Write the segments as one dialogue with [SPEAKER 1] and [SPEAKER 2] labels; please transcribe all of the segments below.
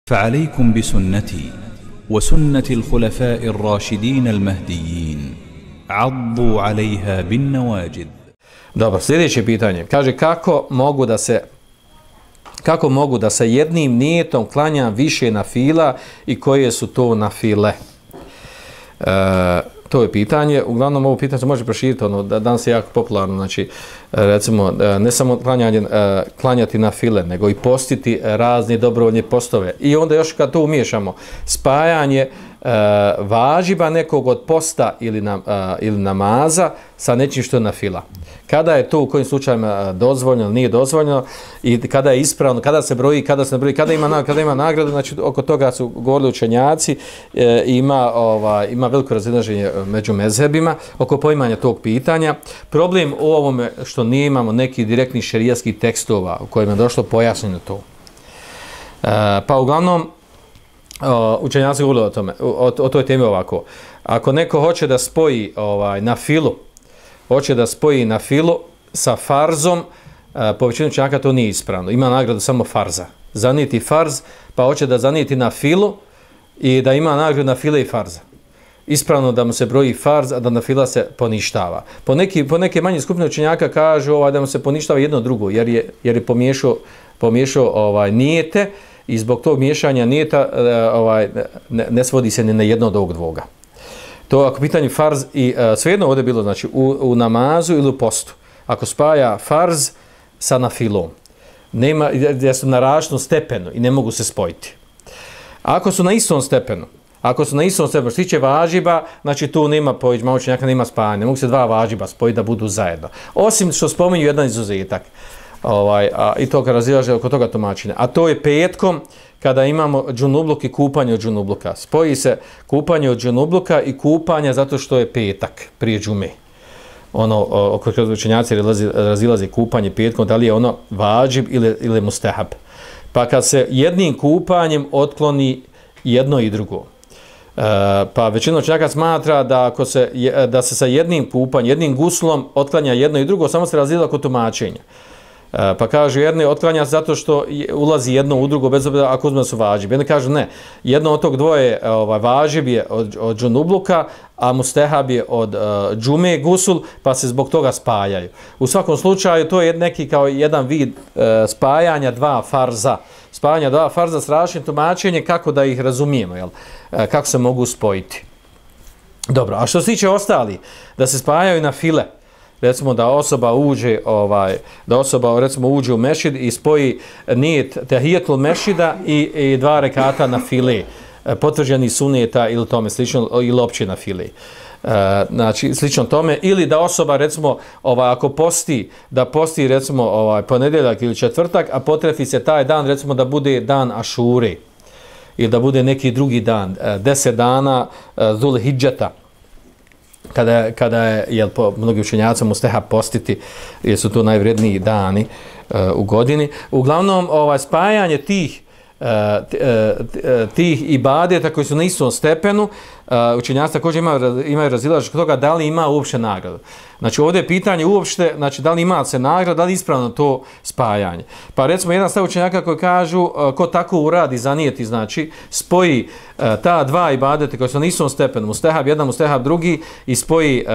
[SPEAKER 1] فعليكم بسنتي وسنة الخلفاء الراشدين المهديين عضوا عليها بالنواجذ.
[SPEAKER 2] Dobro, sljedeće pitanje. Kaže kako mogu da se jednim nijetom klanja više nafila i koje su to nafile? To je pitanje. Uglavnom ovo pitanje se može proširiti, danas je jako popularno, znači recimo ne samo klanjati nafile, nego i postiti razne dobrovoljne postove. I onda još kad to umiješamo, spajanje važiba nekog od posta ili namaza sa nečim što je nafila. Kada je to u kojim slučajima dozvoljeno, nije dozvoljeno i kada je ispravno, kada se broji, kada se ne broji, kada ima nagradu, znači oko toga su govorili učenjaci, ima veliko razilaženje među mezhebima oko poimanja tog pitanja. Problem u ovome što nije imamo nekih direktnih šerijatskih tekstova u kojima je došlo pojašnjeno to. Pa uglavnom učenjaci govorili o tome, o toj temi ovako. Ako neko hoće da spoji na filu sa farzom, po većini učenjaka to nije ispravno. Ima nagradu samo farza. Zanijeti farz, pa hoće da zanijeti na filu i da ima nagradu na file i farza. Ispravno da mu se broji farz, a da na fila se poništava. Po neke manje skupine učenjaka kažu da mu se poništava jedno drugo, jer je pomiješao nijete i zbog tog miješanja nijeta ne svodi se ni na jedno od ovog dvoga. To ako pitanje farz i svejedno ovdje bilo znači u namazu ili u postu. Ako spaja farz sa nafilom, nema, gdje su na različitom stepenu i ne mogu se spojiti. Ako su na istom stepenu, što se tiče važiba, znači tu nema poiđma učenjaka, nema spajanja, ne mogu se dva važiba spojiti da budu zajedno. Osim što spominju jedan izuzetak. I to kad razilaže oko toga tumačenja. A to je petkom kada imamo džunubluk i kupanje od džunubluka. Spoji se kupanje od džunubluka i kupanje zato što je petak prije džume. Oko učenjaci razilaze kupanje petkom, da li je ono vađib ili mustehab. Pa kad se jednim kupanjem otkloni jedno i drugo. Pa većina učenjaka smatra da se sa jednim kupanjem, jednim guslom otklanja jedno i drugo, samo se razilaze oko tumačenja. Pa kažu jedni otklanja zato što ulazi jedno u drugo bez obzira ako uzme da su važib. Jedni kažu ne, jedno od tog dvoje važib je od džunubluka, a mustehab je od džume gusul, pa se zbog toga spajaju. U svakom slučaju to je neki kao jedan vid spajanja dva farza. Spajanja dva farza s različitim tumačenjem kako da ih razumijemo, jel? Kako se mogu spojiti. Dobro, a što se tiče ostali, da se spajaju na file, recimo da osoba uđe u mešid i spoji nijet tehijetul mešida i dva rekata na file, potvrđeni suneta ili tome slično, ili opće na file. Znači slično tome, ili da osoba recimo ako posti, da posti recimo ponedjeljak ili četvrtak, a potrefi se taj dan recimo da bude dan Ašure ili da bude neki drugi dan, 10 dana Zul Hidžeta, kada je po mnogim učenjacima mustehab postiti, jer su to najvredniji dani u godini. Uglavnom, spajanje tih ibadeta koji su na istom stepenu, učenjaci također imaju razilaženje kod toga da li ima uopće nagradu. Znači ovdje je pitanje uopšte, znači da li ima se nagrada, da li je ispravno to spajanje. Pa recimo jedan stav učenjaka koji kažu ko tako uradi zanijeti, znači spoji ta dva ibadeta koji su na istom stepenu, mustehab jedan, mustehab drugi i spoji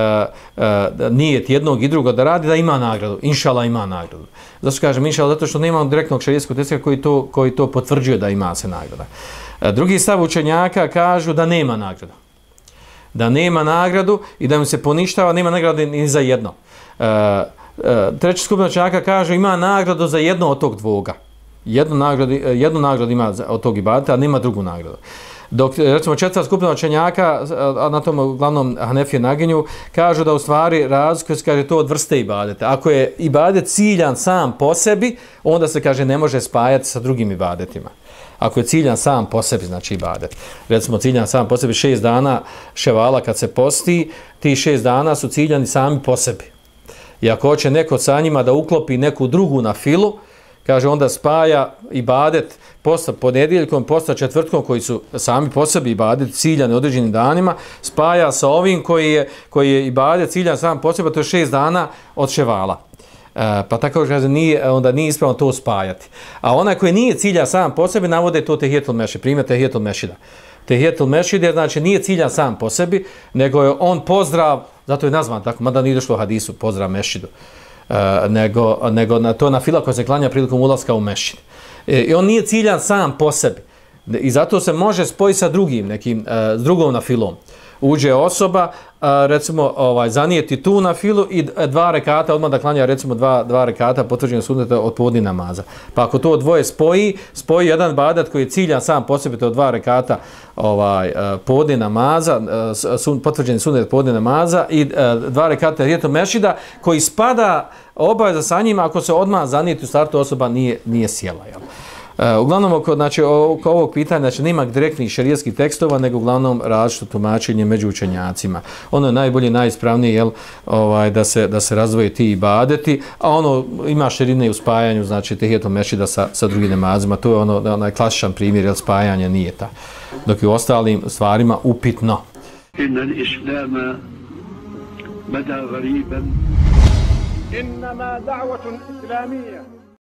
[SPEAKER 2] nijet jednog i drugog da radi, da ima nagradu. Inšala ima nagradu. Zašto kažem inšala? Zato što nemamo direktnog šerijskog teksta koji to potvrđuje da ima se nagrada. Drugi stav učenjaka kažu da nema nagradu. Da nema nagradu i da mu se poništava, nema nagrade ni za jedno. Treća skupina učenjaka kaže ima nagradu za jedno od tog dvoga. Jednu nagradu ima od tog ibadeta, a nema drugu nagradu. Dok recimo četvrta skupina učenjaka, a na tom uglavnom Hanefije naginju, kažu da u stvari razlikuje se kaže to od vrste ibadeta. Ako je ibadet ciljan sam po sebi, onda se kaže ne može spajati sa drugim ibadetima. Ako je ciljan sam po sebi, znači ibadet. Recimo ciljan sam po sebi 6 dana ševala kad se posti, ti 6 dana su ciljani sami po sebi. I ako hoće neko sa njima da uklopi neku drugu na filu, kaže onda spaja ibadet posta ponedjeljkom, posta četvrtkom koji su sami po sebi ibadet ciljani određenim danima, spaja sa ovim koji je ibadet ciljan sam po sebi, to je 6 dana od ševala. Pa tako kaže, onda nije ispravno to spajati. A onaj koji nije cilja sam po sebi, navode to tehijetul mešid, primjer tehijetul mešida. Tehijetul mešid je, znači, nije ciljan sam po sebi, nego je on pozdrav, zato je nazvan tako, mada nije došlo u hadisu, pozdrav mešidu, nego to na fila koja se klanja prilikom ulaska u mešid. I on nije ciljan sam po sebi. I zato se može spojiti sa drugim, s drugom na filom. Uđe osoba, recimo, zanijeti tu na filu i 2 rekata, odmah da klanja, recimo, 2 rekata potvrđenog sunneta od podni namaza. Pa ako to dvoje spoji jedan ibadet koji je ciljan sam po sebi, to je 2 rekata podni namaza, potvrđeni sunnet podni namaza i 2 rekata tehijetul mešida, koji spada obaveza sa njima ako se odmah zanijeti u startu osoba nije sjela, jel? Uglavnom, oko ovog pitanja, znači, nema direktnih šerijatskih tekstova, nego uglavnom različito tumačenje među učenjacima. Ono je najbolje, najispravnije, jel, da se razdvoje ti ibadeti, a ono ima širine u spajanju, znači, tehijetul mešida sa drugim namazima. To je onaj klasičan primjer, jel, spajanje nije ta. Dok je u ostalim stvarima upitno.
[SPEAKER 3] Inna l-islama bada gariban. Innama da'vatun islamija.